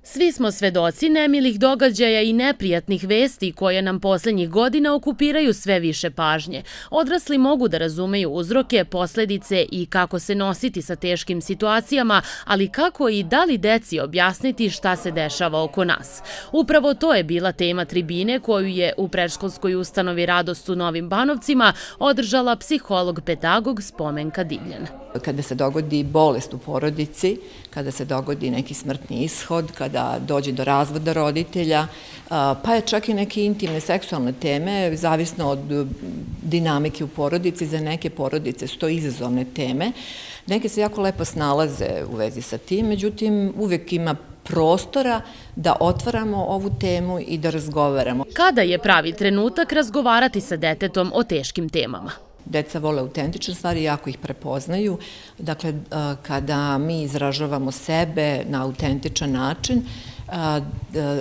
Svi smo svedoci nemilih događaja i neprijatnih vesti koje nam posljednjih godina okupiraju sve više pažnje. Odrasli mogu da razumeju uzroke, posljedice i kako se nositi sa teškim situacijama, ali kako i da li deci objasniti šta se dešava oko nas. Upravo to je bila tema tribine koju je u predškolskoj ustanovi Radost u Novim Banovcima održala psiholog-pedagog Spomenka Divljan. Kada se dogodi bolest u porodici, kada se dogodi neki smrtni ishod, kada dođe do razvoda roditelja, pa je čak i neke intimne seksualne teme, zavisno od dinamike u porodici, za neke porodice su to izazovne teme. Neke se jako lepo snalaze u vezi sa tim, međutim uvijek ima prostora da otvaramo ovu temu i da razgovaramo. Kada je pravi trenutak razgovarati sa detetom o teškim temama? Deca vole autentične stvari, jako ih prepoznaju. Dakle, kada mi izražavamo sebe na autentičan način,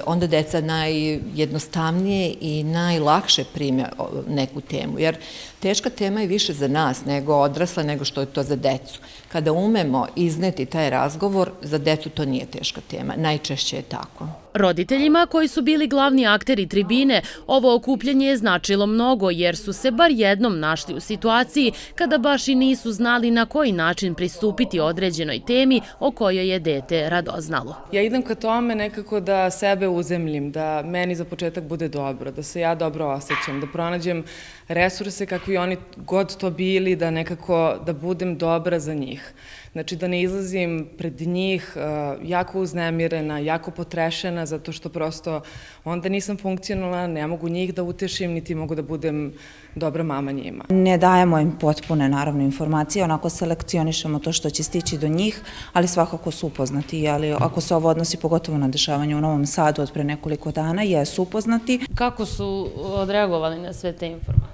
onda deca najjednostavnije i najlakše prime neku temu. Jer teška tema je više za nas nego odrasla, nego što je to za decu. Kada umemo izneti taj razgovor, za decu to nije teška tema. Najčešće je tako. Roditeljima koji su bili glavni akteri tribine, ovo okupljanje je značilo mnogo jer su se bar jednom našli u situaciji kada baš i nisu znali na koji način pristupiti određenoj temi o kojoj je dete radoznalo. Ja idem ka tome nekako da sebe uzemljim, da meni za početak bude dobro, da se ja dobro osjećam, da pronađem resurse kakvi oni god to bili, da nekako da budem dobra za njih. Znači da ne izlazim pred njih jako uznemirena, jako potrešena, zato što prosto onda nisam funkcionalna, ne mogu njih da utešim, niti mogu da budem dobra mama njima. Ne dajemo im potpune, naravno, informacije, onako selekcionišemo to što će stići do njih, ali svakako su upoznati. Ali ako se ovo odnosi pogotovo na dešavanje u Novom Sadu od pre nekoliko dana, jesu upoznati. Kako su odreagovali na sve te informacije?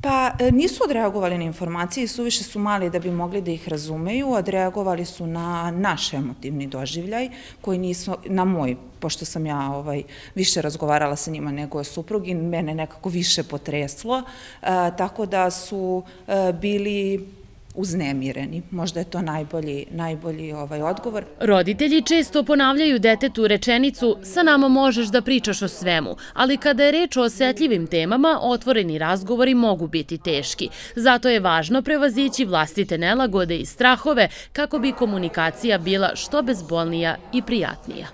Pa nisu odreagovali na informacije, suviše su mali da bi mogli da ih razumeju, odreagovali su na naš emotivni doživljaj, koji nisu, na moj, pošto sam ja više razgovarala sa njima nego suprug i mene nekako više potreslo, tako da su bili uznemireni. Možda je to najbolji odgovor. Roditelji često ponavljaju detetu rečenicu sa nama možeš da pričaš o svemu, ali kada je reč o osetljivim temama, otvoreni razgovori mogu biti teški. Zato je važno prevazići vlastite nelagode i strahove kako bi komunikacija bila što bezbolnija i prijatnija.